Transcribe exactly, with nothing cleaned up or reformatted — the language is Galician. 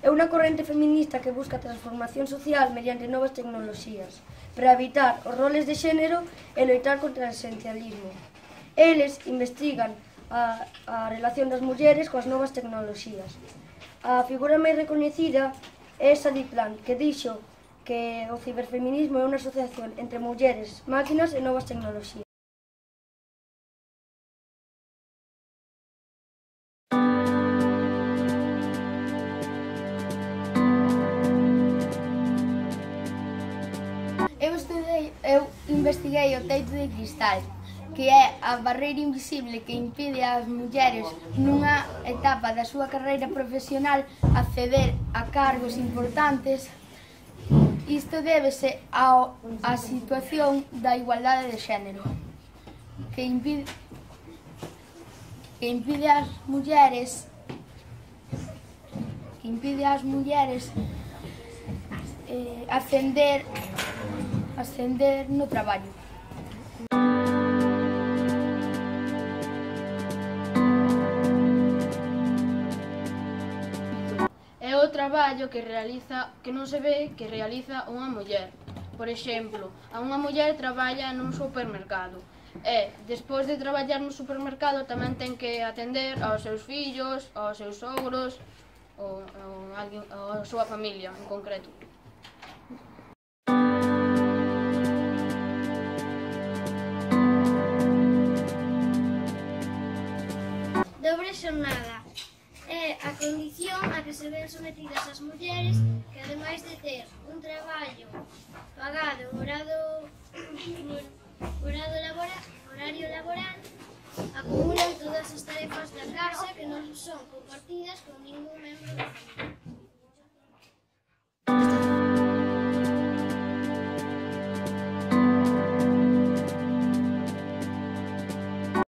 É unha corrente feminista que busca a transformación social mediante novas tecnoloxías para evitar os roles de xénero e loitar contra o esencialismo. Eles investigan a, a relación das mulleres coas novas tecnoloxías. A figura máis recoñecida é Sadie Plant, que dixo que o ciberfeminismo é unha asociación entre mulleres, máquinas e novas tecnoloxías. Eu estudei, eu investiguei o teito de cristal, que é a barreira invisible que impide ás mulleres nunha etapa da súa carreira profesional acceder a cargos importantes. Isto débese á situación da igualdade de xénero, que impide, que impide ás mulleres que impide ás mulleres eh, ascender ascender no traballo. É o traballo que realiza que non se ve que realiza unha muller. Por exemplo, a unha muller traballa nun supermercado e, despois de traballar no supermercado, tamén ten que atender aos seus fillos, aos seus sogros ou a a súa familia en concreto. Dobre xornada é a condición a que se ven sometidas as mulleres que, ademais de ter un traballo pagado en horario, horario, laboral, horario laboral, acumulan todas as tarefas da casa que non son compartidas con ningún membro da familia.